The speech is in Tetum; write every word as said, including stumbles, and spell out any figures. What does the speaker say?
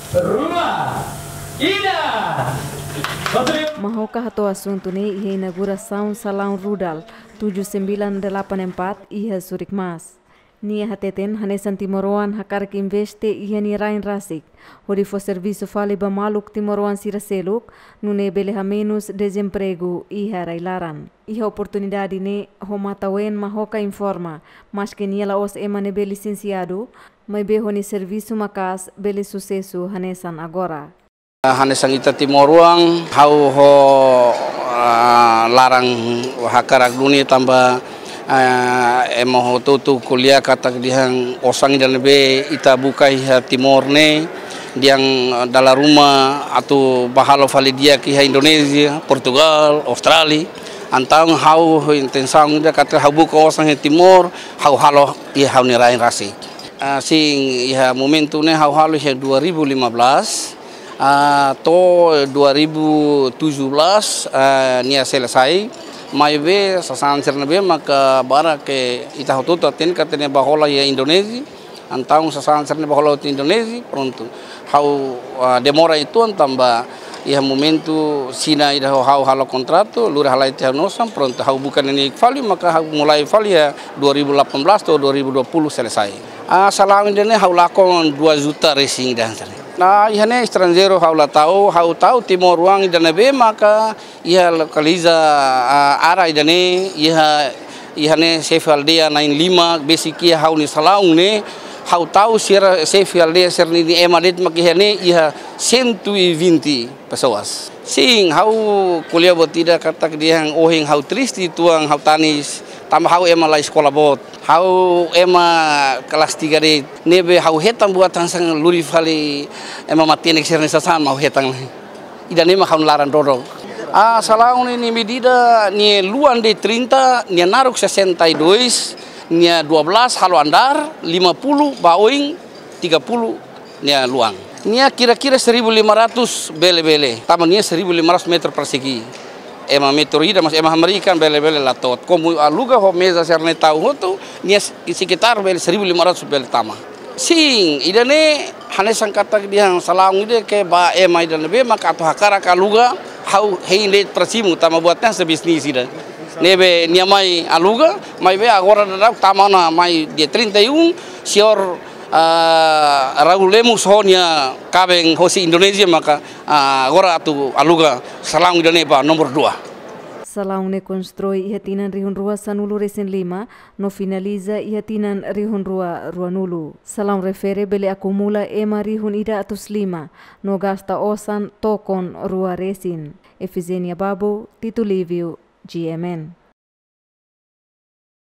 Rua, ida. Mahoka hato'o asuntu ne'e iha inaugurasaun salaun Rudal tujuh sembilan delapan empat iha Surikmas. Nia hateten hanesan timoroan hakarak investe iha nia rain rasik hodi fó servisu fali ba maluk timoroan sira seluk, nune'e bele hamenus dezempregu iha rai-laran. Iha oportunidade ne'e, ho matan-ween Mahoka informa, maske nia la'ós ema ne'ebé lisensiadu, maibé ho nia servisu maka'as bele susesu hanesan agora. Hanesan ita timoroan, ha'u ho, ah, laran hakarak duni tanba, ah, ema hotu-hotu ko'alia katak dehan osan ida ne'ebé ita buka iha Timor ne'e, dehan dala ruma atu bá halo fali di'ak iha Indonézia, Portugál, Austrália. Entaun ha'u ho intensaun ida katak ha'u buka osan iha Timor, ha'u halo iha ha'u-nia rain rasik. Ah, sin, iha momentu ne'e ha'u halo iha dua ribu lima belas, ah, to'o dua ribu tujuh belas, ah, nia selesai. Maibé sasán sira ne'ebé maka barak ke ita hotu-hotu hatene katak nia bá hola iha Indonézia. Entaun sasán sira ne'e bá hola iha Indonézia, prontu. Ha'u, ah, demora uitoan tanba iha momentu Xina ida ho ha'u halo kontratu, lori halai tiha ha'u-nia osan, prontu. Ha'u buka ne'e nia fali, maka ha'u mulai fali iha dua ribu delapan belas to'o dua ribu dua puluh selesai. Ah, salaun ida ne'e ha'u lakon dua juta resin ida hanesan ne'e. Nah, iha ne'e estranjeiru ha'u la tau, ha'u tau timoroan ida ne'ebé maka iha lokaliza, ah, área ida ne'e, iha, iha ne'e xefe aldeia na'in-lima, besik iha ha'u-nia salaun ne'e, ha'u tau sira xefe aldeia sira-nia ema de'it mak iha ne'e, iha cento e vinte pessoas. Sin, ha'u ko'alia buat ida katak dehan ohin ha'u triste uitoan, ha'u tanis, tanba ha'u ema la eskola boot. Ha'u ema kelas tiga de'it, ne'ebé ha'u hetan buat hanesan lori fali ema matenek sira-nia sasán mak ha'u hetan. Ida ne'e mak ha'u-nia laran dodok. Ah, salaun ne'e nia medida, nia luan de'it trinta, nia naruk sessenta e dois, nia dua belas halo andár, lima puluh ba oin, tiga puluh nia luan. Nia kira-kira seribu lima ratus bele-bele, tanba nia seribu lima ratus meter persegi. Ema meter ida, mas ema hamriik kan bele-bele la to'o. Komu aluga ho meza sira-ne'e tau hotu, nia sekitar bele seribu lima ratus bele tama. Sin, ida ne'e hanesan katak dehan salaun ida ke ba ema ida ne'ebé maka atu hakarak aluga, ha'u hein de'it para simu, tanba buat ne'e hanesan bisnis ida. Ne'ebé nia mai aluga, maibé agora daudaun tama ona mai dia trinta e um, señór, ah, Raul Lemos ho nia kaben hosi Indonézia maka, ah, agora atu aluga salaun ida ne'e ba nomor dua. Salaun ne'e konstrui iha tinan rihun rua sanulu resin lima, no finaliza iha tinan rihun rua ruanulu. Salaun refere bele akumula ema rihun ida atus lima, no gasta osan tokon rua resin. Efizénia Babo, Tito Lívio, G M N.